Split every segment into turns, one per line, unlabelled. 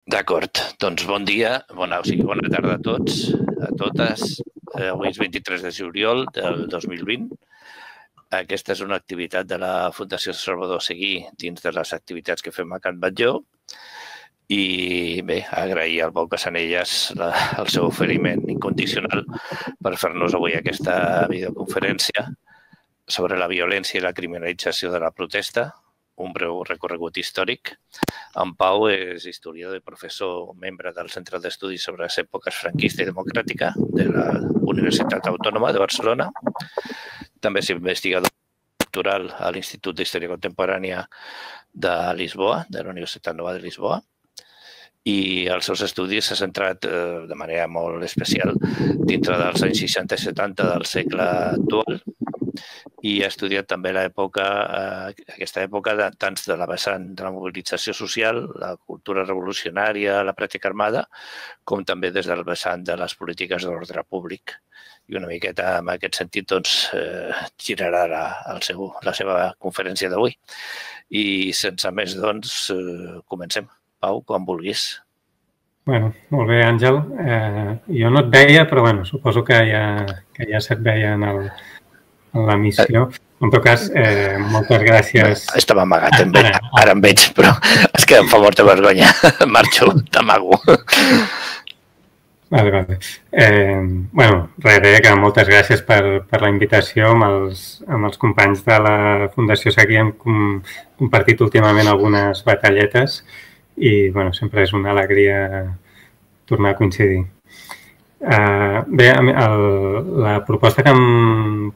D'acord, doncs bon dia, bona tarda a tots, a totes. Avui és 23 de juliol del 2020. Aquesta és una activitat de la Fundació Salvador Seguí dins de les activitats que fem a Can Batlló. I bé, agrair al Pau Cassanellas el seu oferiment incondicional per fer-nos avui aquesta videoconferència sobre la violència i la criminalització de la protesta, un breu recorregut històric. En Pau és historiador i professor, membre del Centre d'Estudis sobre les èpoques franquista i democràtica de la Universitat Autònoma de Barcelona. També és investigador doctoral a l'Institut d'Història Contemporània de Lisboa, de la Universitat Nova de Lisboa. I els seus estudis s'ha centrat de manera molt especial dintre dels anys 60 i 70 del segle actual i ha estudiat també aquesta època tant de la vessant de la mobilització social, la cultura revolucionària, la pràctica armada, com també des del vessant de les polítiques d'ordre públic. I una miqueta en aquest sentit girarà la seva conferència d'avui. I sense més, doncs, comencem. Pau, quan vulguis.
Molt bé, Àngel. Jo no et veia, però suposo que ja se't veia en l'emissió. En tot cas, moltes gràcies.
Estava amagat, ara em veig, però és que em fa molta vergonya. Marxo, t'amago.
Vale. Res, que moltes gràcies per la invitació. Amb els companys de la Fundació Seguí hem compartit últimament algunes batalletes i sempre és una alegria tornar a coincidir. Bé, la proposta que em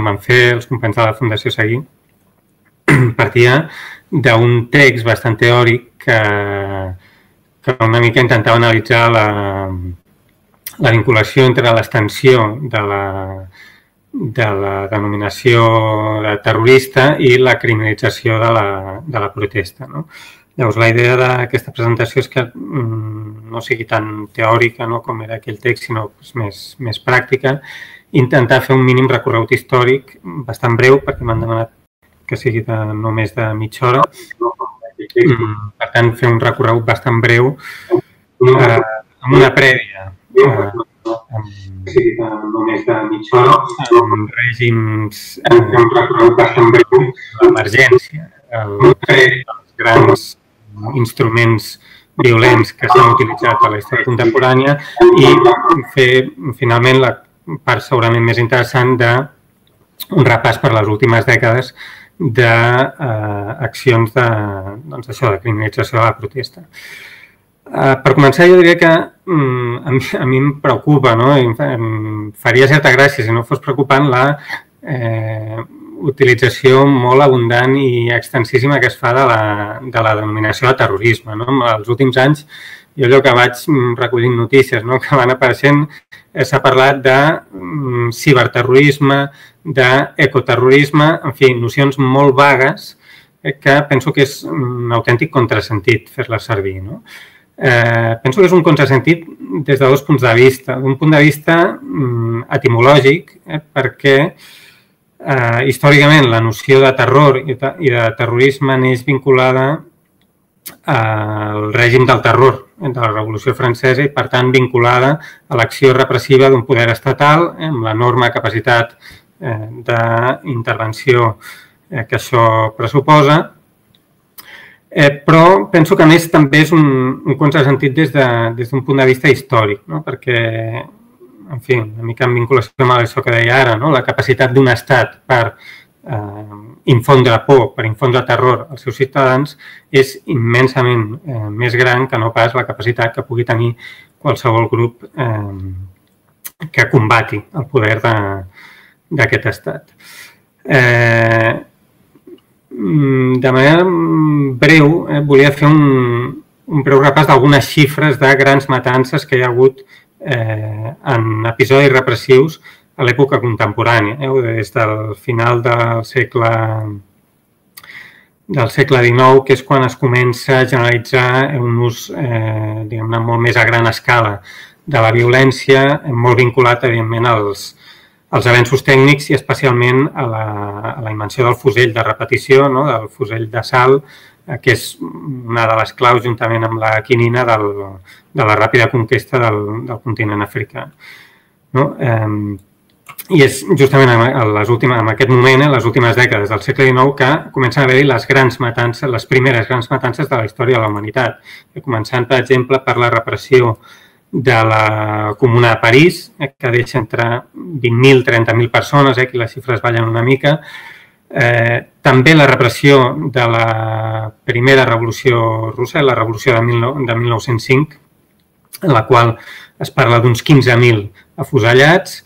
van fer els companys de la Fundació Seguí partia d'un text bastant teòric que una mica intentava analitzar la vinculació entre l'extensió de la denominació de terrorista i la criminalització de la protesta, no? Llavors, la idea d'aquesta presentació és que no sigui tan teòrica com era aquell text, sinó més pràctica. Intentar fer un mínim recorregut històric bastant breu, perquè m'han demanat que sigui no més de mitja hora. Per tant, fer un recorregut bastant breu amb una prèvia. Amb règims d'emergència, els grans instruments violents que s'han utilitzat a la història contemporània i fer, finalment, la part segurament més interessant d'un repàs per les últimes dècades d'accions de criminalització de la protesta. Per començar, jo diria que a mi em preocupa, em faria certa gràcia si no fos preocupant la utilització molt abundant i extensíssima que es fa de la denominació de terrorisme. En els últims anys, jo allò que vaig recollint notícies que van apareixent, s'ha parlat de ciberterrorisme, d'ecoterrorisme, en fi, nocions molt vagues que penso que és un autèntic contrasentit fer-les servir. Penso que és un contrasentit des de dos punts de vista. D'un punt de vista etimològic, perquè històricament la noció de terror i de terrorisme neix vinculada al règim del terror de la Revolució Francesa i, per tant, vinculada a l'acció repressiva d'un poder estatal amb l'enorme capacitat d'intervenció que això pressuposa. Però penso que, a més, també és un contrasentit des d'un punt de vista històric, perquè, en fi, una mica en vinculació amb això que deia ara, la capacitat d'un estat per infondre por, per infondre terror als seus ciutadans és immensament més gran que no pas la capacitat que pugui tenir qualsevol grup que combati el poder d'aquest estat. De manera breu, volia fer un breu repàs d'algunes xifres de grans matances que hi ha hagut en episodis repressius a l'època contemporània, des del final del segle XIX, que és quan es comença a generalitzar un ús, diguem-ne, molt més a gran escala de la violència, molt vinculat, evidentment, als avenços tècnics i especialment a la invenció del fusell de repetició, del fusell d'assalt, que és una de les claus, juntament amb la quinina, de la ràpida conquesta del continent africà. I és justament en aquest moment, en les últimes dècades del segle XIX, que comencen a haver-hi les primeres grans matances de la història de la humanitat. Començant, per exemple, per la repressió de la Comuna de París, que deixa entre 20.000 i 30.000 persones, aquí les xifres ballen una mica. També la repressió de la primera revolució russa, la revolució de 1905, en la qual es parla d'uns 15.000 afusellats.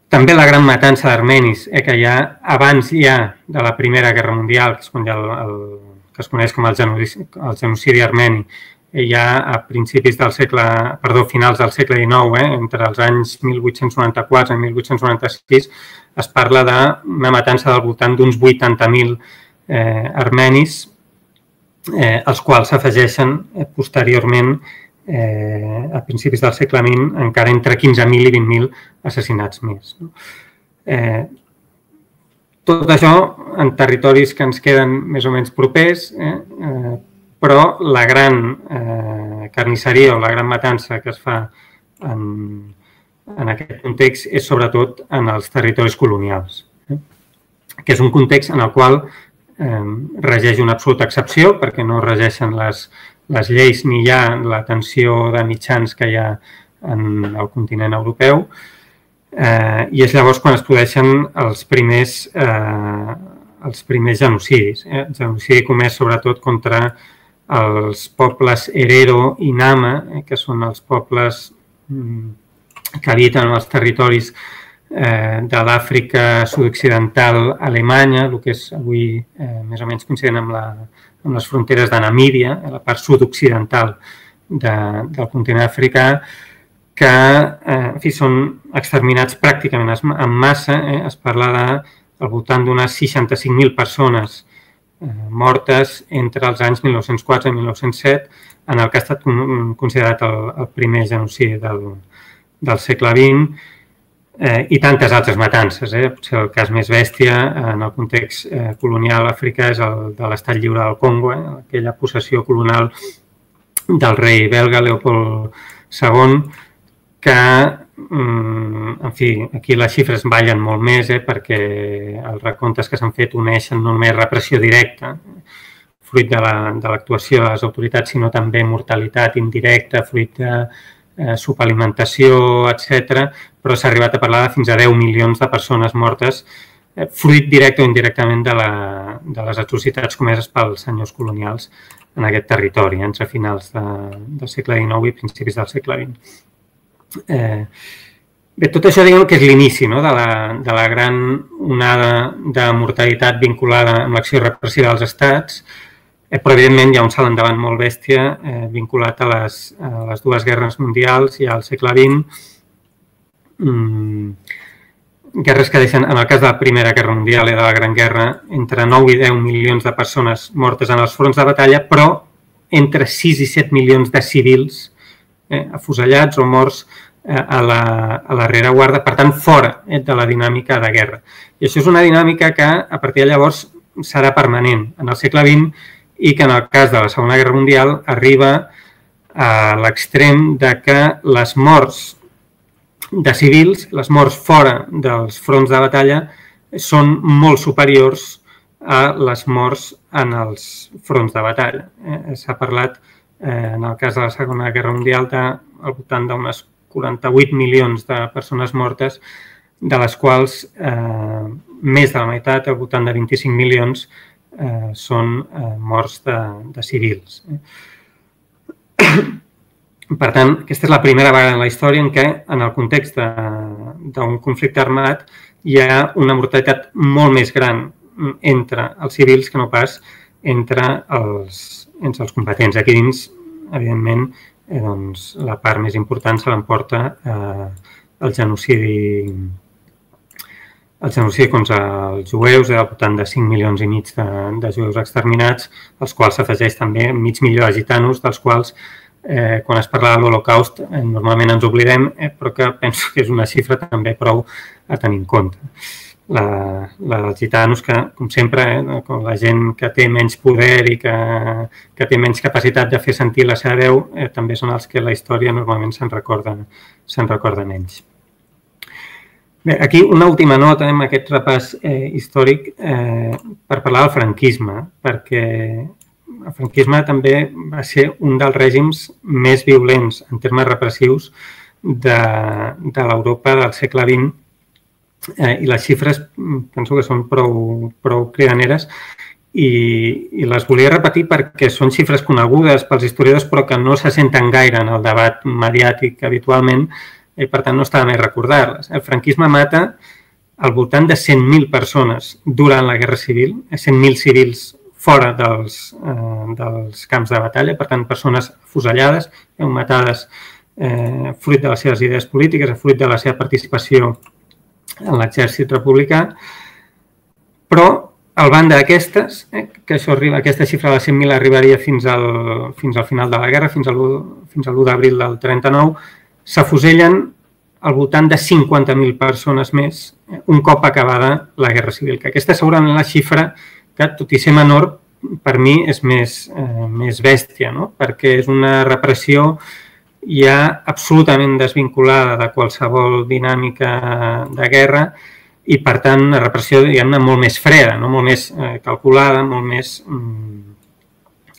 També la gran matança d'armenis, que ja abans de la Primera Guerra Mundial, que es coneix com el genocidi armeni, ja a finals del segle XIX, entre els anys 1894 i 1896, es parla d'una matança del voltant d'uns 80.000 armenis, els quals s'afegeixen posteriorment a principis del segle XX encara entre 15.000 i 20.000 assassinats més. Tot això en territoris que ens queden més o menys propers, però la gran carnisseria o la gran matança que es fa en aquest context és sobretot en els territoris colonials, que és un context en el qual regeix una absoluta excepció perquè no regeixen les lleis ni hi ha la tensió de mitjans que hi ha en el continent europeu, i és llavors quan es produeixen els primers genocidis. El genocidi comès sobretot contra els pobles Herero i Nama, que són els pobles que habiten els territoris de l'Àfrica sud-occidental alemanya, el que és avui més o menys coincident amb les fronteres de Namíbia, la part sud-occidental del continent africà, que són exterminats pràcticament en massa. Es parla al voltant d'unes 65.000 persones mortes entre els anys 1904 i 1907, en el que ha estat considerat el primer genocidi del segle XX, i tantes altres matances. Potser el cas més bèstia en el context colonial africà és el de l'Estat Lliure del Congo, aquella possessió colonial del rei belga Leopold II, que, en fi, aquí les xifres ballen molt més, perquè els recomptes que s'han fet uneixen no només repressió directa, fruit de l'actuació de les autoritats, sinó també mortalitat indirecta, fruit de subalimentació, etc. Però s'ha arribat a parlar de fins a 10 milions de persones mortes, fruit directe o indirectament de les atrocitats comeses pels senyors colonials en aquest territori, entre finals del segle XIX i principis del segle XX. Bé, tot això diguem que és l'inici de la gran onada de mortalitat vinculada amb l'acció repressiva dels estats, però evidentment hi ha un salt endavant molt bèstia vinculat a les dues guerres mundials i al segle XX, guerres que deixen, en el cas de la Primera Guerra Mundial i de la Gran Guerra, entre 9 i 10 milions de persones mortes en els fronts de batalla, però entre 6 i 7 milions de civils afusellats o morts a la rereguarda, per tant, fora de la dinàmica de guerra. I això és una dinàmica que, a partir de llavors, serà permanent en el segle XX i que, en el cas de la Segona Guerra Mundial, arriba a l'extrem de que les morts de civils, les morts fora dels fronts de batalla, són molt superiors a les morts en els fronts de batalla. S'ha parlat, en el cas de la Segona Guerra Mundial, al voltant d'unes 48 milions de persones mortes, de les quals més de la meitat, al voltant de 25 milions, són morts de civils. Per tant, aquesta és la primera vegada en la història en què, en el context d'un conflicte armat, hi ha una mortalitat molt més gran entre els civils que no pas entre els combatents. Aquí dins, evidentment, la part més important se l'emporta el genocidi contra els jueus, al voltant de 5 milions i mig de jueus exterminats, als quals s'afegeix també mig milió de gitanos, dels quals, quan es parla de l'Holocaust, normalment ens oblidem, però que penso que és una xifra també prou a tenir en compte. la dels gitanos, que, com sempre, la gent que té menys poder i que té menys capacitat de fer sentir la seva veu, també són els que la història normalment se'n recorda menys. Bé, aquí una última nota en aquest repàs històric per parlar del franquisme, perquè el franquisme també va ser un dels règims més violents en termes repressius de l'Europa del segle XX, i les xifres penso que són prou cridaneres i les volia repetir perquè són xifres conegudes pels historiadors però que no se senten gaire en el debat mediàtic habitualment i per tant no està de més recordar-les. El franquisme mata al voltant de 100.000 persones durant la Guerra Civil, 100.000 civils fora dels camps de batalla, per tant persones afusellades, matades fruit de les seves idees polítiques, fruit de la seva participació en l'exèrcit republicà, però al banda d'aquestes, que aquesta xifra de 100.000 arribaria fins al final de la guerra, fins a l'1 d'abril del 39, s'afusellen al voltant de 50.000 persones més un cop acabada la Guerra Civil, que aquesta segurament la xifra que, tot i ser menor, per mi és més bèstia, no? Perquè és una repressió ja absolutament desvinculada de qualsevol dinàmica de guerra i, per tant, una repressió, diguem-ne, molt més freda, no? Molt més calculada, molt més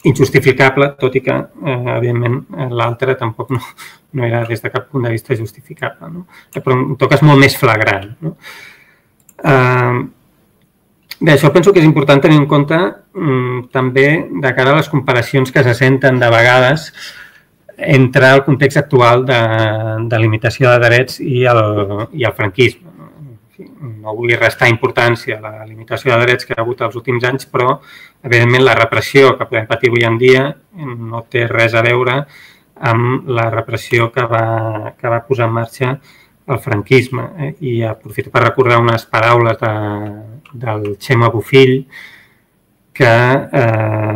injustificable, tot i que, evidentment, l'altre tampoc no era des de cap punt de vista justificable, no? Però en tot cas molt més flagrant, no? Bé, això penso que és important tenir en compte també de cara a les comparacions que se senten de vegades entre el context actual de limitació de drets i el franquisme. No vull restar importància a la limitació de drets que hi ha hagut els últims anys, però, evidentment, la repressió que podem patir avui en dia no té res a veure amb la repressió que va posar en marxa el franquisme. I aprofito per recordar unes paraules del Xema Bofill, que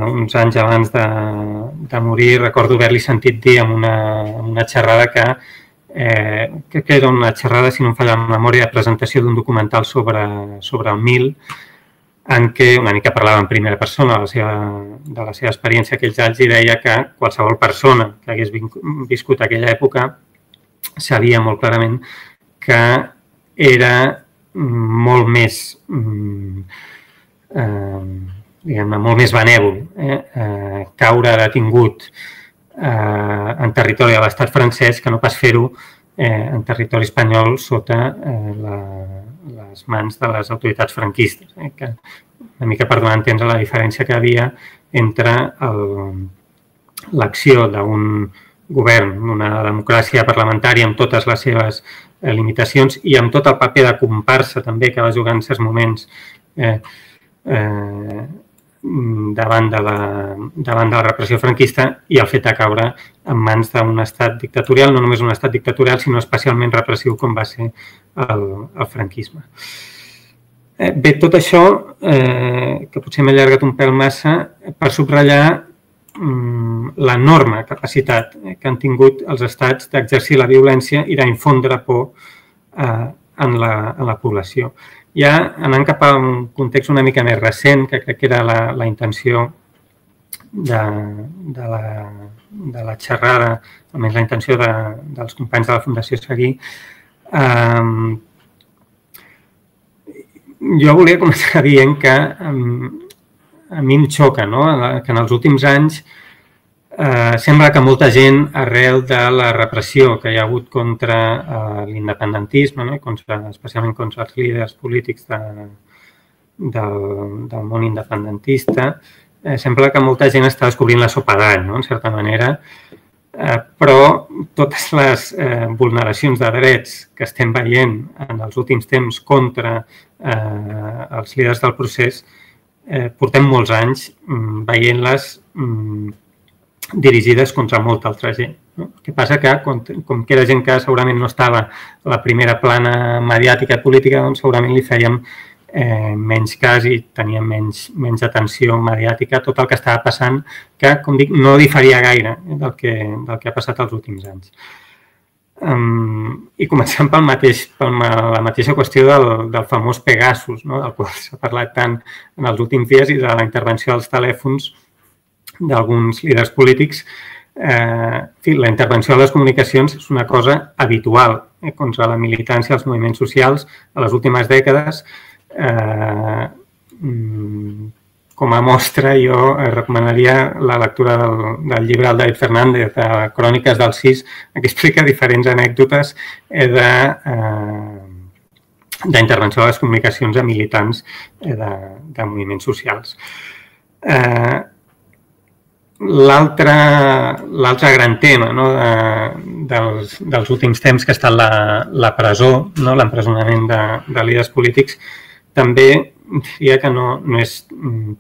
uns anys abans de morir recordo haver-li sentit dir en una xerrada que era una xerrada, si no em falla la memòria, de presentació d'un documental sobre el Mil, en què una mica parlava en primera persona de la seva experiència aquells anys i deia que qualsevol persona que hagués viscut aquella època sabia molt clarament que era molt més diguem-ne, molt més benèvol caure detingut en territori de l'estat francès que no pas fer-ho en territori espanyol sota les mans de les autoritats franquistes. Que una mica per donar a entendre la diferència que hi havia entre l'acció d'un govern, d'una democràcia parlamentària amb totes les seves limitacions i amb tot el paper de comparsa també que va jugar en certs moments davant de la repressió franquista i el fet de caure en mans d'un estat dictatorial, no només un estat dictatorial, sinó especialment repressiu com va ser el franquisme. Bé, tot això, que potser m'he allargat un pèl massa, per subratllar l'enorme capacitat que han tingut els estats d'exercir la violència i d'infondre por en la població. Ja anant cap a un context una mica més recent, que crec que era la intenció de la xerrada, almenys la intenció dels companys de la Fundació Seguí, jo volia començar dient que a mi em xoca, que en els últims anys sembla que molta gent, arrel de la repressió que hi ha hagut contra l'independentisme, especialment contra els líders polítics del món independentista, sembla que molta gent està descobrint la sopa d'all, en certa manera, però totes les vulneracions de drets que estem veient en els últims temps contra els líders del procés, portem molts anys veient-les dirigides contra molta altra gent. El que passa que, com que era gent que segurament no estava a la primera plana mediàtica i política, doncs segurament li fèiem menys cas i teníem menys atenció mediàtica a tot el que estava passant, que, com dic, no diferia gaire del que ha passat els últims anys. I comencem per la mateixa qüestió del famós Pegasus, del qual s'ha parlat tant en els últims dies, i de la intervenció als telèfons d'alguns líders polítics. La intervenció a les comunicacions és una cosa habitual contra la militància, els moviments socials a les últimes dècades. Com a mostra, jo recomanaria la lectura del llibre del David Fernández, de Cròniques del CIS, que explica diferents anècdotes d'intervenció a les comunicacions a militants de moviments socials. L'altre gran tema dels últims temps, que ha estat la presó, l'empresonament de líders polítics, també diria que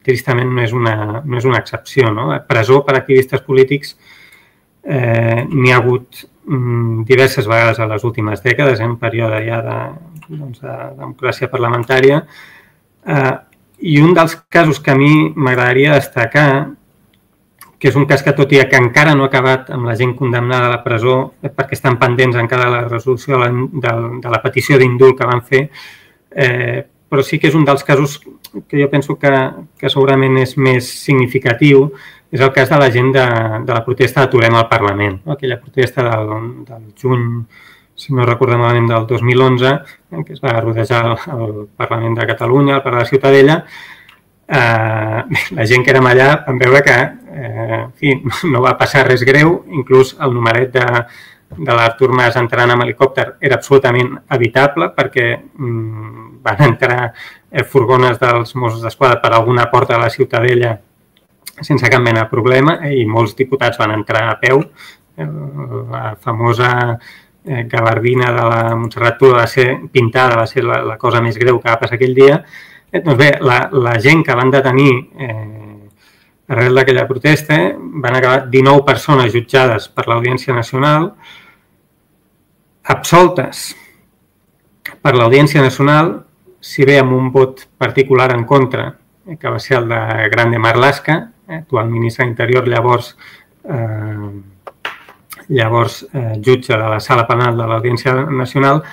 tristament no és una excepció. Presó per activistes polítics n'hi ha hagut diverses vegades a les últimes dècades, en un període ja de democràcia parlamentària. I un dels casos que a mi m'agradaria destacar, que és un cas que, tot i que encara no ha acabat amb la gent condemnada a la presó, perquè estan pendents encara de la resolució de la petició d'indult que van fer, però sí que és un dels casos que jo penso que segurament és més significatiu, és el cas de la gent de la protesta d'Aturem al Parlament, aquella protesta del juny, si no recordo malament, del 2011, que es va rodejar el Parlament de Catalunya, el Parc de la Ciutadella. La gent que érem allà vam veure que no va passar res greu, inclús el numeret de l'Artur Mas entrant amb helicòpter era absolutament evitable, perquè van entrar furgones dels Mossos d'Esquadra per alguna porta de la Ciutadella sense cap mena de problema, i molts diputats van entrar a peu. La famosa gabardina de la Montserrat Tura va ser pintada, va ser la cosa més greu que va passar aquell dia. Doncs bé, la gent que van detenir arrel d'aquella protesta van acabar 19 persones jutjades per l'Audiència Nacional, absoltes per l'Audiència Nacional, si bé amb un vot particular en contra, que va ser el de Grande Marlaska, actual ministre d'Interior, llavors jutge de la Sala Penal de l'Audiència Nacional,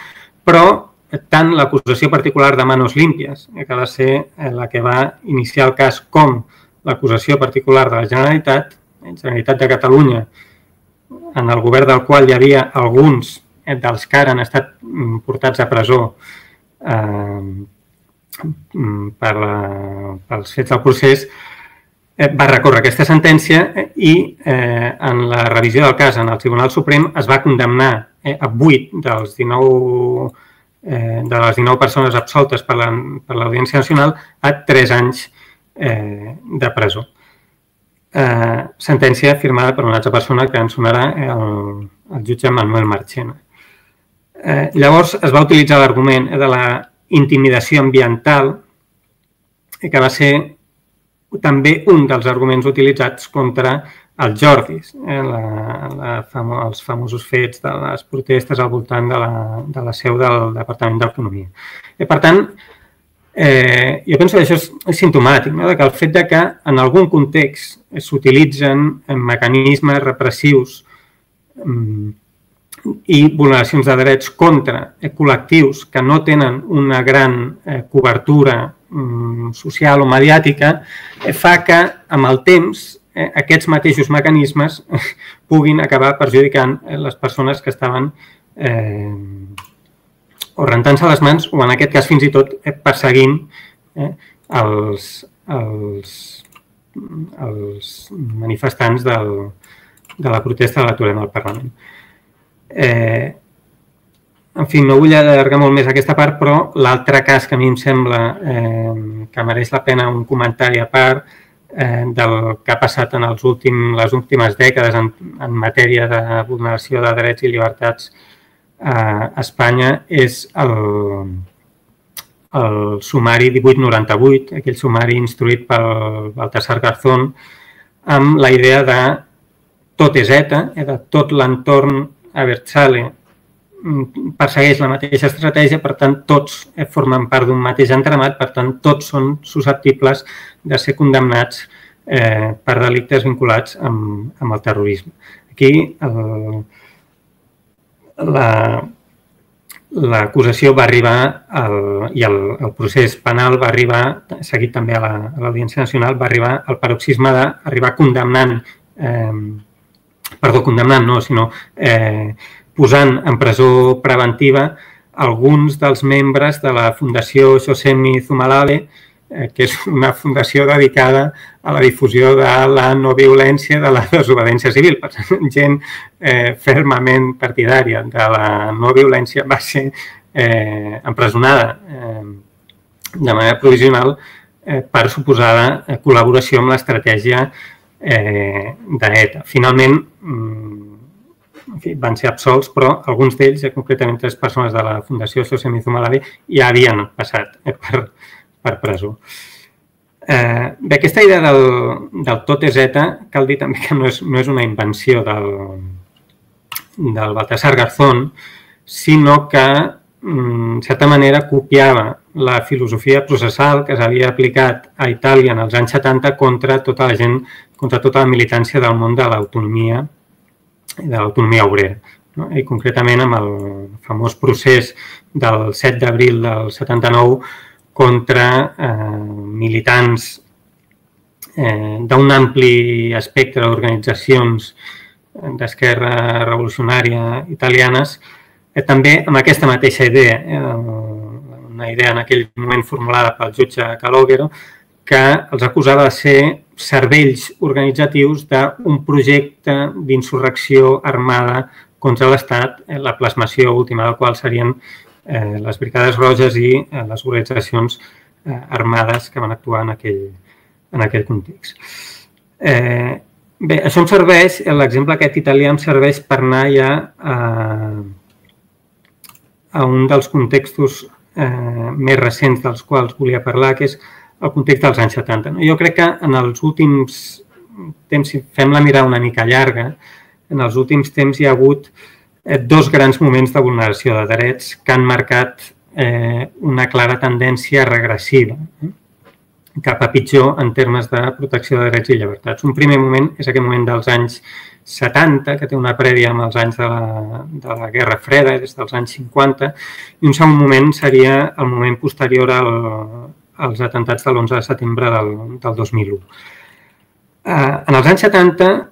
però tant l'acusació particular de Manos Limpias, que va ser la que va iniciar el cas, com l'acusació particular de la Generalitat de Catalunya, en el govern del qual hi havia alguns dels que ara han estat portats a presó pels fets del procés, va recórrer aquesta sentència i en la revisió del cas en el Tribunal Suprem es va condemnar a 8 de les 19 persones absoltes per l'Audiència Nacional a 3 anys de presó. Sentència firmada per una altra persona que ens sonarà, el jutge Manuel Marchena. Llavors es va utilitzar l'argument de la intimidació ambiental, que va ser també un dels arguments utilitzats contra els Jordis, els famosos fets de les protestes al voltant de la seu del Departament d'Economia. Per tant, jo penso que això és simptomàtic, que el fet que en algun context s'utilitzen mecanismes repressius i vulneracions de drets contra col·lectius que no tenen una gran cobertura social o mediàtica, fa que amb el temps aquests mateixos mecanismes puguin acabar perjudicant les persones que estaven o rentant-se les mans o en aquest cas fins i tot perseguint els manifestants de la protesta de l'Aturem al Parlament. En fi, no vull allargar molt més aquesta part, però l'altre cas que a mi em sembla que mereix la pena un comentari a part del que ha passat en les últimes dècades en matèria de vulneració de drets i llibertats a Espanya és el sumari 1898, aquell sumari instruït pel Baltasar Garzón, amb la idea de tot és ETA, de tot l'entorn Abertzale persegueix la mateixa estratègia, per tant, tots formen part d'un mateix entramat, per tant, tots són susceptibles de ser condemnats per delictes vinculats amb el terrorisme. Aquí l'acusació va arribar i el procés penal va arribar, seguit també a l'Audiència Nacional, va arribar al paroxisme d'arribar condemnant posant en presó preventiva alguns dels membres de la Fundació Josemi Zumalale, que és una fundació dedicada a la difusió de la no violència, de la desobediència civil. Per tant, gent fermament partidària de la no violència va ser empresonada de manera provisional per suposada col·laboració amb l'estratègia d'ETA. Finalment, van ser absolts, però alguns d'ells, concretament 3 persones de la Fundació Josemi Zumalale, ja havien passat per presó. Bé, aquesta idea del tot és ETA, cal dir també que no és una invenció del Baltasar Garzón, sinó que, en certa manera, copiava la filosofia processal que s'havia aplicat a Itàlia en els anys 70 contra tota la gent, contra tota la militància del món de l'autonomia obrera. I concretament amb el famós procés del 7 d'abril del 79 contra militants d'un ampli espectre d'organitzacions d'esquerra revolucionària italianes, també amb aquesta mateixa idea, una idea en aquell moment formulada pel jutge Calogero, que els acusava de ser cervells organitzatius d'un projecte d'insurrecció armada contra l'Estat, la plasmació última del qual serien les Brigades Roges i les organitzacions armades que van actuar en aquell context. Bé, això em serveix, l'exemple aquest italià em serveix per anar ja a un dels contextos més recents dels quals volia parlar, que és el context dels anys 70. Jo crec que en els últims temps, si fem la mirada una mica llarga, en els últims temps hi ha hagut 2 grans moments de vulneració de drets que han marcat una clara tendència regressiva cap a pitjor en termes de protecció de drets i llibertats. Un primer moment és aquest moment dels anys 70, que té una prèvia amb els anys de la Guerra Freda, des dels anys 50, i un segon moment seria el moment posterior als atentats de l'11 de setembre del 2001. En els anys 70,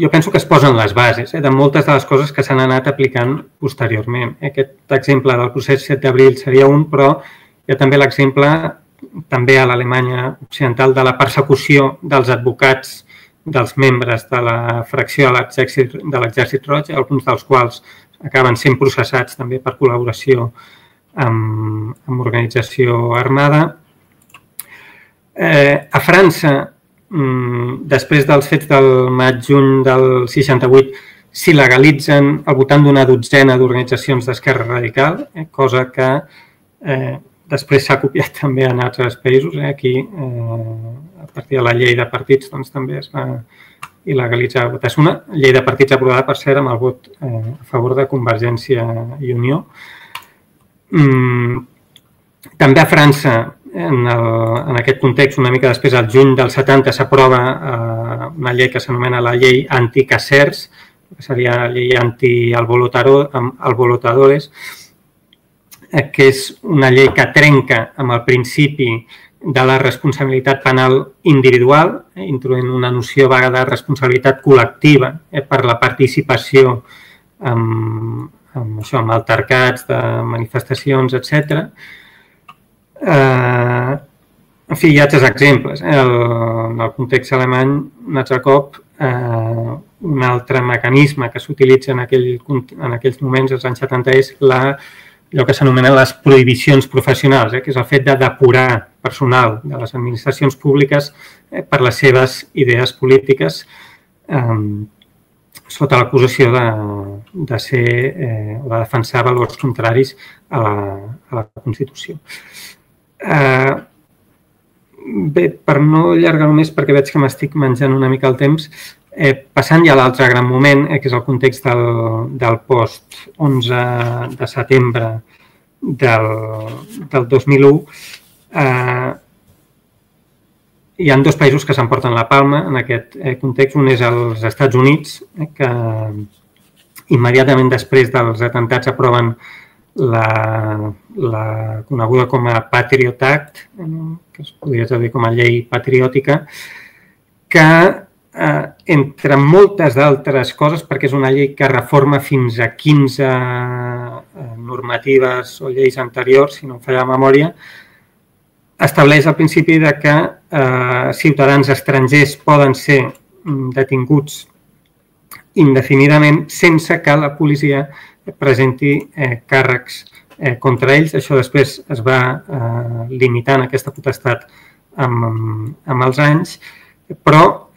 jo penso que es posen les bases de moltes de les coses que s'han anat aplicant posteriorment. Aquest exemple del procés 7 d'abril seria un, però hi ha també l'exemple, també a l'Alemanya occidental, de la persecució dels advocats dels membres de la fracció de l'Exèrcit Roig, alguns dels quals acaben sent processats també per col·laboració amb organització armada. A França, després dels fets del maig-juny del 68, s'hi legalitzen al voltant d'una dotzena d'organitzacions d'esquerra radical, cosa que després s'ha copiat també en altres països. Aquí, a partir de la llei de partits, també es va il·legalitzar. És una llei de partits aprovada, per cert, amb el vot a favor de Convergència i Unió. També a França, en aquest context, una mica després, al juny del 70, s'aprova una llei que s'anomena la llei anti-Casers, que seria la llei anti-alborotadores, que és una llei que trenca amb el principi de la responsabilitat penal individual, introduint una noció vaga de responsabilitat col·lectiva per la participació amb altercats de manifestacions, etc. En fi, hi ha altres exemples. En el context alemany, un altre cop, un altre mecanisme que s'utilitza en aquells moments, als anys 70, és allò que s'anomenen les prohibicions professionals, que és el fet de depurar personal de les administracions públiques per les seves idees polítiques sota l'acusació de ser o de defensar valors contraris a la Constitució. Bé, per no allargar-ho més, perquè veig que m'estic menjant una mica el temps, passant ja a l'altre gran moment, que és el context del post-11 de setembre del 2001, hi ha 2 països que s'emporten la palma en aquest context. Un és els Estats Units, que immediatament després dels atemptats aproven la coneguda com a Patriot Act, que es podria traduir com a llei patriòtica, que entre moltes d'altres coses, perquè és una llei que reforma fins a 15 normatives o lleis anteriors, si no em falla la memòria, estableix el principi de que ciutadans estrangers poden ser detinguts indefinidament sense que la policia presenti càrrecs contra ells. Això després es va limitant aquesta potestat amb els anys, però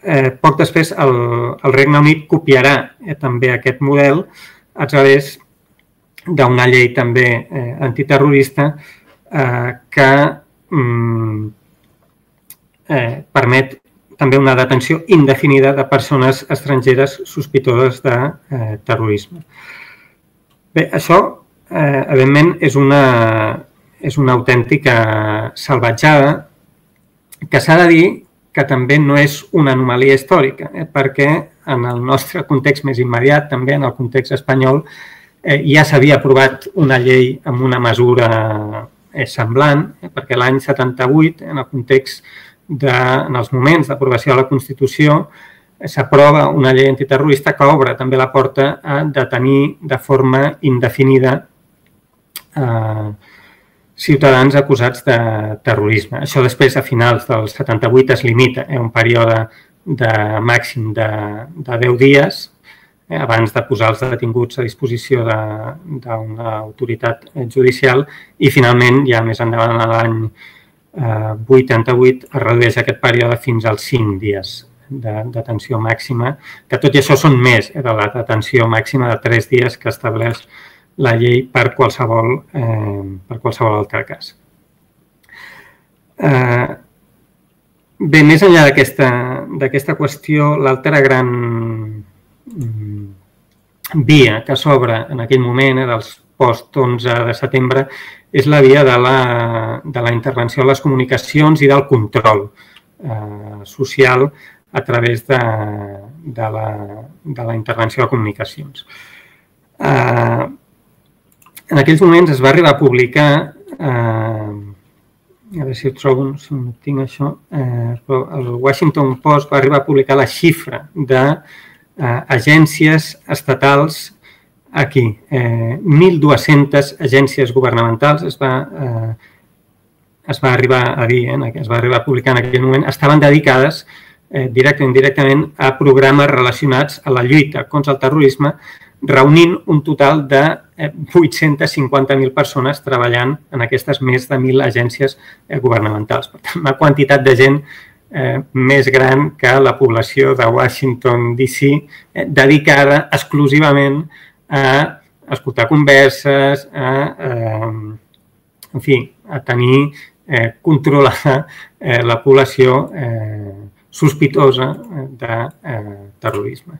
poc després el Regne Unit copiarà també aquest model a través d'una llei també antiterrorista que permet també una detenció indefinida de persones estrangeres sospitoses de terrorisme. Bé, això, evidentment, és una autèntica salvatjada que s'ha de dir que també no és una anomalia històrica, perquè en el nostre context més immediat, també en el context espanyol, ja s'havia aprovat una llei amb una mesura semblant, perquè l'any 78, en el context en els moments d'aprovació de la Constitució, s'aprova una llei antiterrorista que obre també la porta a detenir de forma indefinida ciutadans acusats de terrorisme. Això després, a finals del 78, es limita a un període màxim de 10 dies abans de posar els detinguts a disposició d'una autoritat judicial i, finalment, ja més endavant, l'any 88, es redueix aquest període fins als 5 dies de detenció màxima, que tot i això són més de la detenció màxima de 3 dies que estableix la llei per qualsevol altre cas. Bé, més enllà d'aquesta qüestió, l'altra gran via que s'obre en aquell moment, dels post-11 de setembre, és la via de la intervenció en les comunicacions i del control social a través de la intervenció de comunicacions. En aquells moments es va arribar a publicar, a veure si ho trobo, si no tinc això, però el Washington Post va arribar a publicar la xifra d'agències estatals aquí. 1.200 agències governamentals es va arribar a dir, es va arribar a publicar en aquell moment, estaven dedicades directament o indirectament a programes relacionats a la lluita contra el terrorisme, reunint un total de 850.000 persones treballant en aquestes més de 1.000 agències governamentals. Per tant, una quantitat de gent més gran que la població de Washington, D.C., dedicada exclusivament a escoltar converses, a tenir controlada la població sospitosa de terrorisme.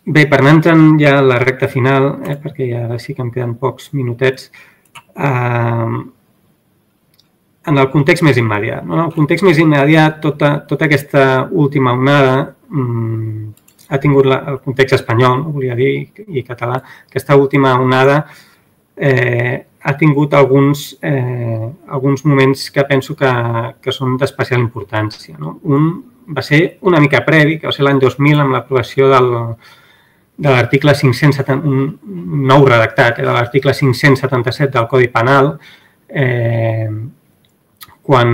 Bé, per anar entrant ja a la recta final, perquè ja ara sí que em queden pocs minutets, en el context més immediat. En el context més immediat, tota aquesta última onada ha tingut el context espanyol, volia dir, i català, aquesta última onada ha tingut alguns moments que penso que són d'especial importància. Un va ser una mica previ, que va ser l'any 2000 amb l'aprovació de l'article 570, un nou redactat de l'article 577 del Codi Penal, quan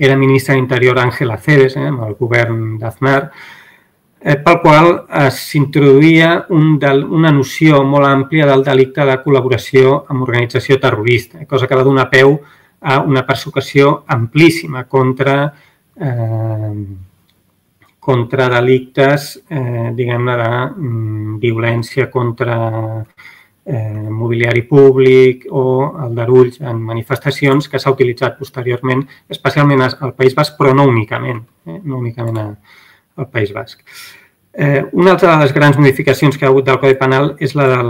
era ministre d'Interior Ángel Acebes, amb el govern d'Aznar, pel qual s'introduïa una noció molt àmplia del delicte de col·laboració amb organització terrorista, cosa que va donar peu a una persecució amplíssima contra delictes, diguem-ne, de violència contra mobiliari públic o aldarulls en manifestacions que s'ha utilitzat posteriorment, especialment al País Basc, però no únicament al País Basc. Una altra de les grans modificacions que hi ha hagut del Codi Penal és la de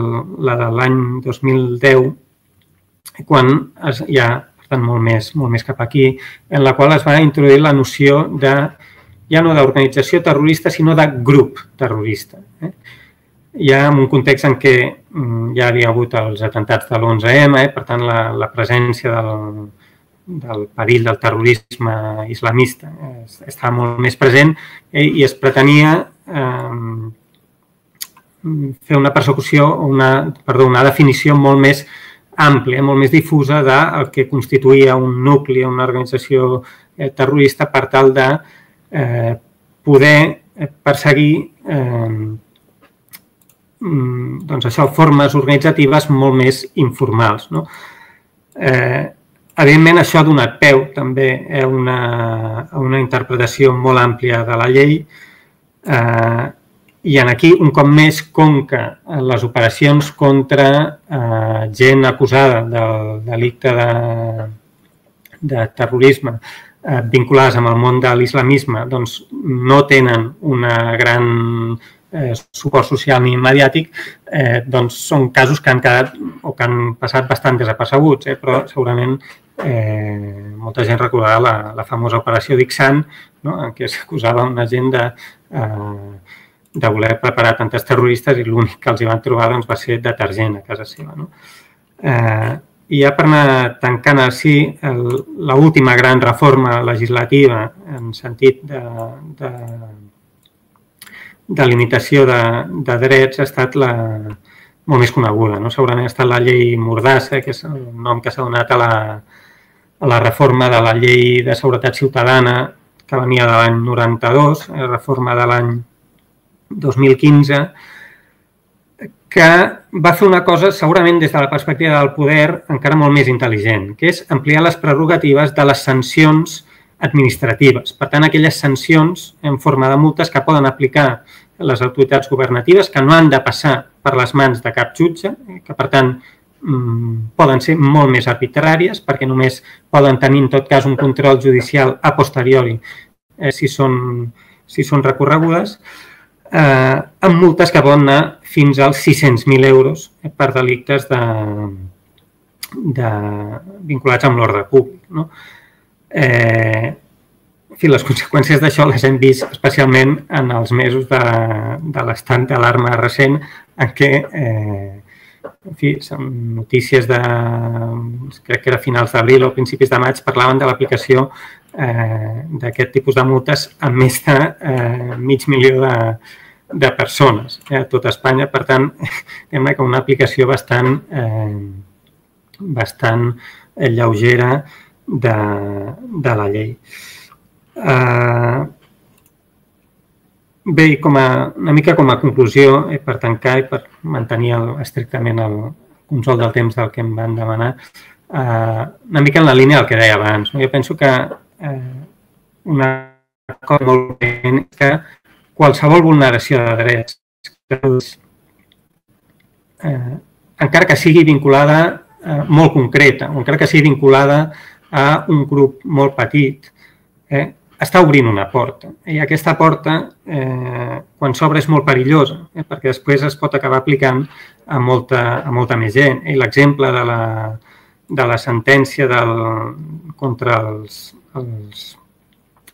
l'any 2010, quan ja, per tant, molt més cap aquí, en la qual es va introduir la noció de ja no d'organització terrorista, sinó de grup terrorista. Ja en un context en què ja havia hagut els atentats de l'11M, per tant, la presència del perill del terrorisme islamista estava molt més present i es pretenia fer una persecució, una definició molt més àmplia, molt més difusa del que constituïa un nucli, una organització terrorista per tal de poder perseguir formes organitzatives molt més informals. Evidentment, això ha donat peu també a una interpretació molt àmplia de la llei i aquí, un cop més, com que les operacions contra gent acusada del delicte de terrorisme vinculades amb el món de l'islamisme no tenen una gran suport social ni mediàtic, són casos que han quedat o que han passat bastant desapercebuts, però segurament molta gent recordarà la famosa operació Dixant, en què s'acusava una gent de voler preparar atemptats terroristes i l'únic que els hi van trobar va ser detergent a casa seva. I ja per anar tancant així, l'última gran reforma legislativa en sentit de limitació de drets ha estat molt més coneguda. Segurament ha estat la llei Mordassa, que és el nom que s'ha donat a la reforma de la llei de seguretat ciutadana que venia de l'any 92, la reforma de l'any 2015, que va fer una cosa, segurament des de la perspectiva del poder, encara molt més intel·ligent, que és ampliar les prerrogatives de les sancions administratives. Per tant, aquelles sancions en forma de multes que poden aplicar les autoritats governatives, que no han de passar per les mans de cap jutge, que per tant poden ser molt més arbitràries, perquè només poden tenir en tot cas un control judicial a posteriori si són recorregudes, amb multes que poden anar fins als 600.000 euros per delictes vinculats amb l'ordre públic. Les conseqüències d'això les hem vist especialment en els mesos de l'estat d'alarma recent, en què són notícies crec que era finals d'abril o principis de maig, parlaven de l'aplicació d'aquest tipus de multes a més de 500.000 de persones a tot Espanya. Per tant, sembla que una aplicació bastant lleugera de la llei. Bé, una mica com a conclusió, per tancar i per mantenir estrictament el control del temps del que em van demanar, una mica en la línia del que deia abans. Jo penso que una cosa molt important és que qualsevol vulneració de drets, encara que sigui vinculada molt concreta, o encara que sigui vinculada a un grup molt petit, està obrint una porta. I aquesta porta, quan s'obre, és molt perillosa, perquè després es pot acabar aplicant a molta més gent. I l'exemple de la sentència contra els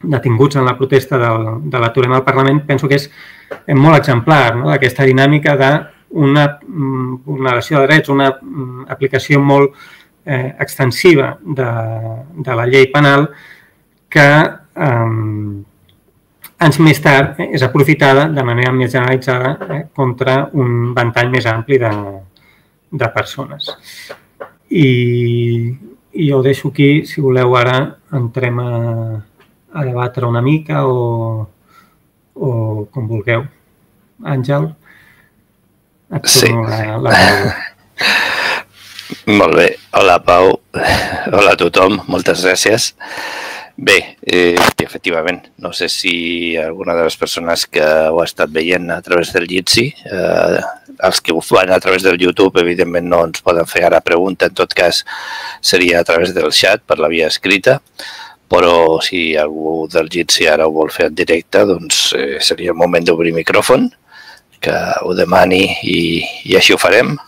detinguts en la protesta de l'aturem al Parlament, penso que és molt exemplar d'aquesta dinàmica d'una vulneració de drets, una aplicació molt extensiva de la llei penal que anys més tard és aprofitada de manera més generalitzada contra un ventall més ampli de persones. I jo ho deixo aquí, si voleu ara entrem a debatre una mica o com vulgueu. Àngel, et torno la paraula.
Molt bé. Hola, Pau. Hola a tothom. Moltes gràcies. Bé, efectivament, no sé si alguna de les persones que ho ha estat veient a través del Jitsi, els que ho fan a través del YouTube, evidentment no ens poden fer ara pregunta, en tot cas seria a través del xat, per la via escrita, però si algú del Jitsi ara ho vol fer en directe, doncs seria el moment d'obrir micròfon, que ho demani i així ho farem.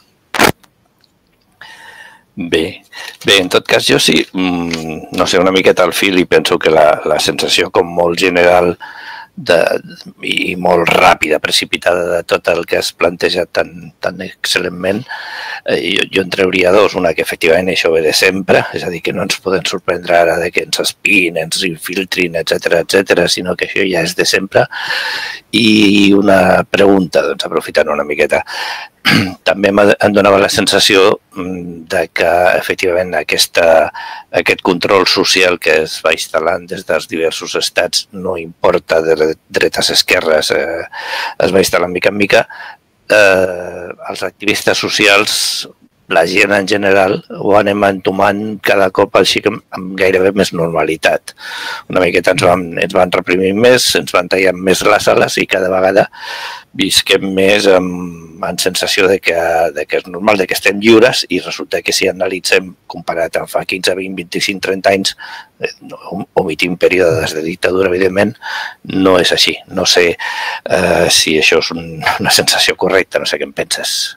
Bé, en tot cas jo sí, no sé, una miqueta al fil i penso que la sensació com molt general i molt ràpida, precipitada de tot el que has plantejat tan excel·lentment. Jo en trauria dos. Una, que efectivament això ve de sempre, és a dir, que no ens poden sorprendre ara de que ens espiïn, ens infiltrin, etc., sinó que això ja és de sempre. I una pregunta, doncs, aprofitant una miqueta. També em donava la sensació de que, efectivament, aquest control social que es va instal·lant des dels diversos estats, no importa de dretes, esquerres, es va instal·lant mica en mica. Els activistes socials, la gent en general, ho anem entomant cada cop així amb gairebé més normalitat. Una miqueta ens van reprimir més, ens van tallar més les ales i cada vegada visquem més amb sensació de que és normal, de que estem lliures, i resulta que si analitzem comparat amb fa 15, 20, 25, 30 anys, omitim períodes de dictadura, evidentment, no és així. No sé si això és una sensació correcta, no sé què en penses.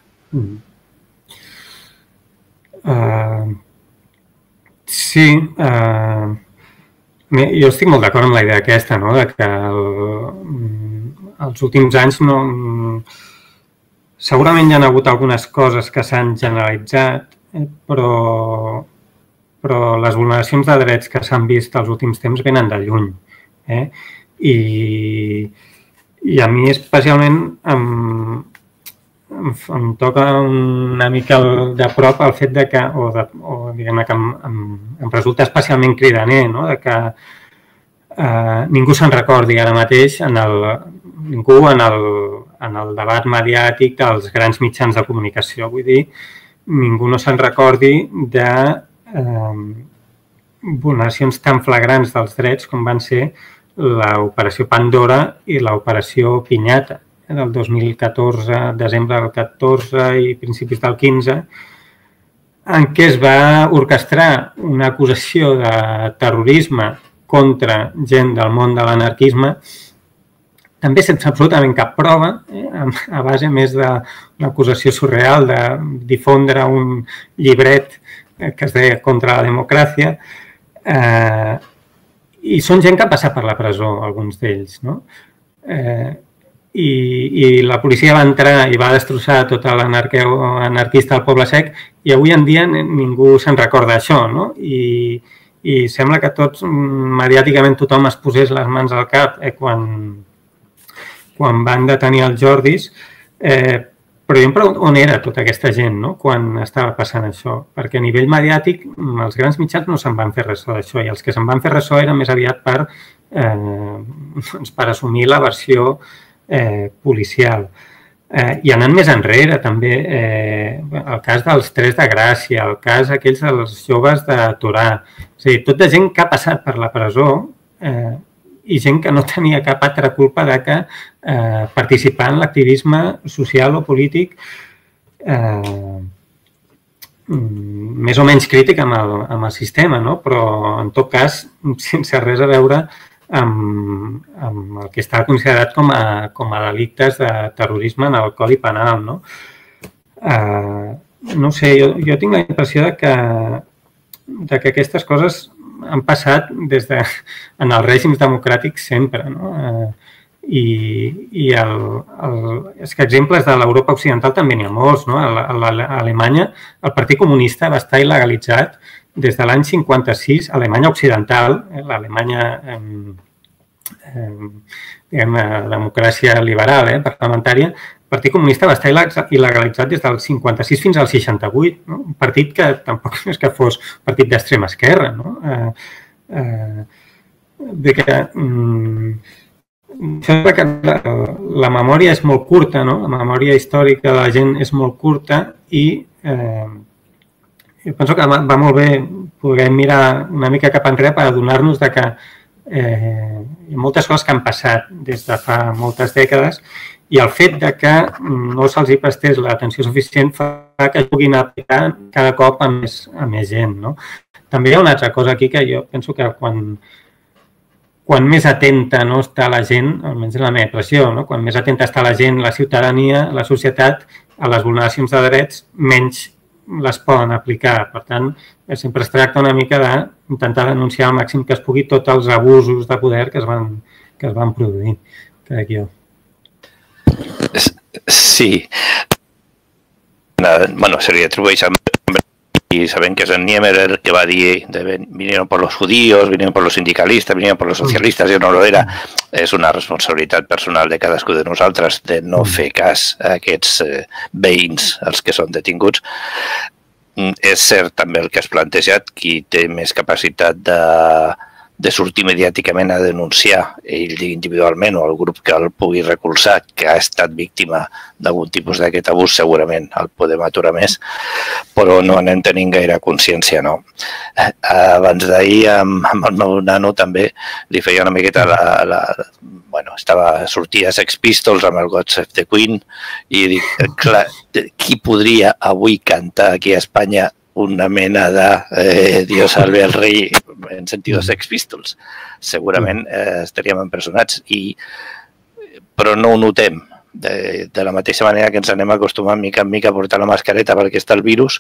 Sí, jo estic molt d'acord amb la idea aquesta, no? De que els últims anys segurament hi ha hagut algunes coses que s'han generalitzat, però les vulneracions de drets que s'han vist els últims temps venen de lluny. I a mi especialment em toca una mica de prop el fet de que, diguem-ne que em resulta especialment cridaner, no? De que ningú se'n recordi ara mateix, ningú en el debat mediàtic dels grans mitjans de comunicació, vull dir, ningú no se'n recordi de vulneracions tan flagrants dels drets com van ser l'operació Pandora i l'operació Pinyata del 2014, desembre del 14 i principis del 15, en què es va orquestrar una acusació de terrorisme contra gent del món de l'anarquisme, també sense absolutament cap prova, a base més d'una acusació surreal de difondre un llibret que es deia Contra la democràcia, i són gent que ha passat per la presó, alguns d'ells, no? I la policia va entrar i va destrossar tota l'anarquista del Poble Sec, i avui en dia ningú se'n recorda d'això, no? I sembla que tots, mediàticament, tothom es posés les mans al cap quan van detenir els Jordis, però jo em pregunto on era tota aquesta gent, no?, quan estava passant això, perquè a nivell mediàtic els grans mitjans no se'n van fer ressò d'això, i els que se'n van fer ressò eren més aviat per assumir la versió policial. I anant més enrere, també, el cas dels Tres de Gràcia, el cas aquells dels joves de Torà, és a dir, tota gent que ha passat per la presó i gent que no tenia cap altra culpa de que participar en l'activisme social o polític més o menys crític amb el sistema, no? Però en tot cas sense res a veure amb el que està considerat com a delictes de terrorisme en el Codi Penal, no? No sé, jo tinc la impressió de que aquestes coses han passat en els règims democràtics sempre, no? I és que exemples de l'Europa occidental també n'hi ha molts, no? A Alemanya el Partit Comunista va estar il·legalitzat des de l'any 56, a Alemanya occidental, l'Alemanya, diguem-ne, democràcia liberal, parlamentària, el Partit Comunista va estar il·legalitzat des del 56 fins al 68, no? Un partit que tampoc és que fos un partit d'extrema esquerra, no? Sembla que la memòria és molt curta, no? La memòria històrica de la gent és molt curta i jo penso que va molt bé poder mirar una mica cap enrere per adonar-nos que hi ha moltes coses que han passat des de fa moltes dècades i el fet que no se'ls prestés l'atenció suficient fa que puguin aplicar cada cop a més gent, no? També hi ha una altra cosa aquí que jo penso que quan més atenta no està la gent, almenys en la meva impressió, no? Quan més atenta està la gent, la ciutadania, la societat, a les vulneracions de drets, menys les poden aplicar. Per tant, sempre es tracta una mica d'intentar denunciar al màxim que es pugui tots els abusos de poder que es van produir, crec jo.
Sí. Bueno, se li atribueix al y saben que es el Niemeyer el que va a decir, vinieron por los judíos, vinieron por los sindicalistas, vinieron por los socialistes, jo no lo era. És una responsabilitat personal de cadascú de nosaltres de no fer cas a aquests veïns, els que són detinguts. És cert també el que has plantejat, qui té més capacitat de sortir mediàticament a denunciar ell individualment o el grup que el pugui recolzar, que ha estat víctima d'algun tipus d'aquest abús, segurament el podem aturar més, però no anem tenint gaire consciència, no. Abans d'ahir, amb el meu nano també, li feia una miqueta sortia a Sex Pistols amb el God Save the Queen i dic, clar, qui podria avui cantar aquí a Espanya una mena de Dios salve al rei en sentit de Sex Pistols? Segurament estaríem empresonats, però no ho notem. De la mateixa manera que ens anem acostumant mica en mica a portar la mascareta perquè està el virus,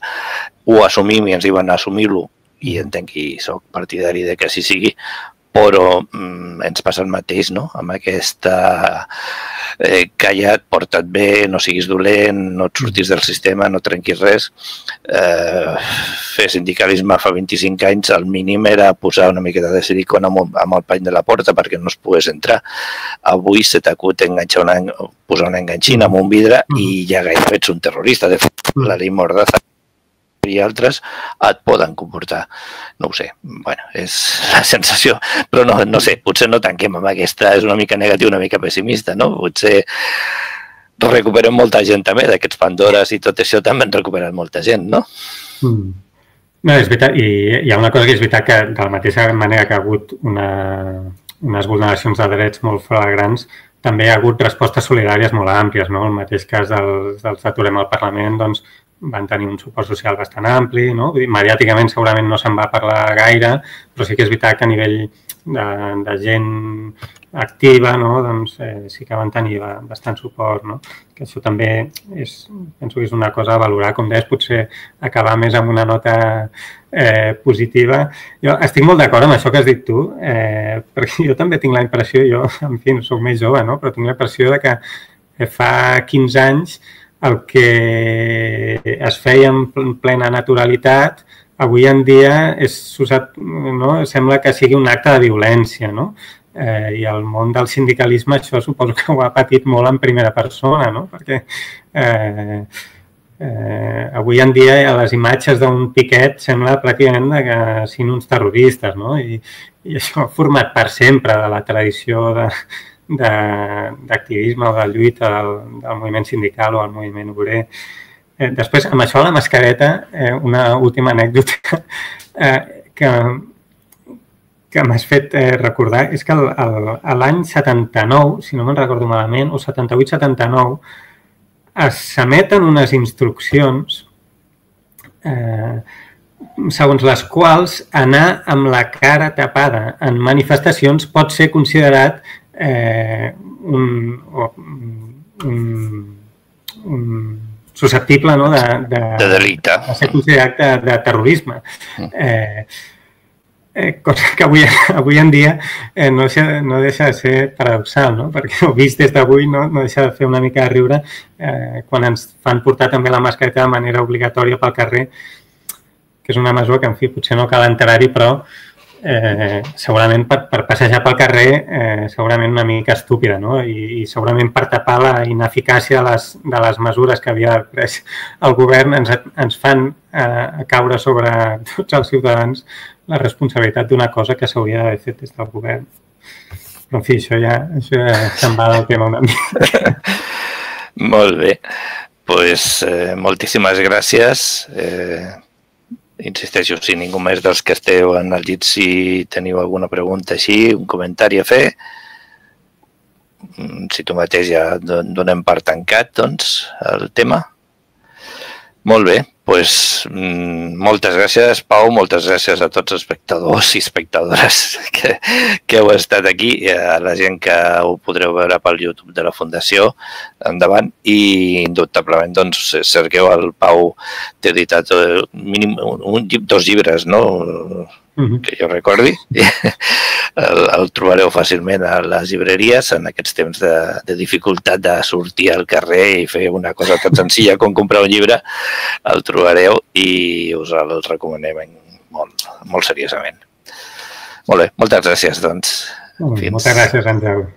ho assumim i ens diuen assumir-lo, i entenc que soc partidari de que així sigui, però ens passa el mateix, no? Amb aquesta calla't, porta't bé, no siguis dolent, no et surtis del sistema, no trenquis res. Fer sindicalisme fa 25 anys, el mínim era posar una miqueta de silicona amb el pany de la porta perquè no es pogués entrar. Avui se t'acut posar una enganxina amb un vidre i ja gairebé ets un terrorista. De fet, la llei Mordaza i altres et poden comportar. No ho sé, bueno, és la sensació, però no sé, potser no tanquem amb aquesta, és una mica negatiu, una mica pessimista, no? Potser recuperem molta gent també, d'aquests Pandores i tot això també han recuperat molta gent, no?
No, és veritat, i hi ha una cosa que és veritat que de la mateixa manera que ha hagut unes vulneracions de drets molt flagrants, també hi ha hagut respostes solidàries molt àmplies, no? El mateix cas dels Aturem al Parlament, doncs, van tenir un suport social bastant ampli, no? Mediàticament segurament no se'n va parlar gaire, però sí que és veritat que a nivell de gent activa, no? Doncs sí que van tenir bastant suport, no? Que això també penso que és una cosa a valorar, com deies, potser acabar més amb una nota positiva. Jo estic molt d'acord amb això que has dit tu, perquè jo també tinc la impressió, jo, en fi, no soc més jove, no? Però tinc la impressió de que fa 15 anys el que es feia en plena naturalitat, avui en dia sembla que sigui un acte de violència, no? I el món del sindicalisme això suposo que ho ha patit molt en primera persona, no? Perquè avui en dia les imatges d'un piquet sembla pràcticament que siguin uns terroristes, no? I això ha format part sempre de la tradició d'activisme o de lluita del moviment sindical o del moviment obrer. Després, amb això de la mascareta, una última anècdota que m'has fet recordar és que l'any 79, si no me'n recordo malament, o 78-79, s'emeten unes instruccions segons les quals anar amb la cara tapada en manifestacions pot ser considerat susceptible, no, de
delicte,
de ser considerat de terrorisme. Cosa que avui en dia no deixa de ser paradoxal, no? Perquè ho vist des d'avui no deixa de fer una mica de riure quan ens fan portar també la mascareta de manera obligatòria pel carrer, que és una mesura que, en fi, potser no cal entrar-hi, però segurament per passejar pel carrer segurament una mica estúpida, no? I segurament per tapar la ineficàcia de les mesures que havia pres el govern ens fan caure sobre tots els ciutadans la responsabilitat d'una cosa que s'hauria d'haver fet des del govern. Però en fi, això ja se'n va del tema una mica.
Molt bé, doncs moltíssimes gràcies. Insisteixo, si ningú més dels que esteu en el llit, si teniu alguna pregunta així, un comentari a fer, si tu mateix ja donem per tancat, doncs, el tema. Molt bé, Pues, moltes gràcies, Pau, moltes gràcies a tots els espectadors i espectadores que heu estat aquí, i a la gent que ho podreu veure pel YouTube de la Fundació, endavant, i indubtablement, doncs, cerqueu el Pau, t'he editat mínim dos llibres, no?, que jo recordi, el trobareu fàcilment a les llibreries en aquests temps de dificultat de sortir al carrer i fer una cosa tan senzilla com comprar un llibre, el trobareu i us el recomanem molt, molt seriosament. Molt bé, moltes gràcies, doncs.
Moltes gràcies, Àngel.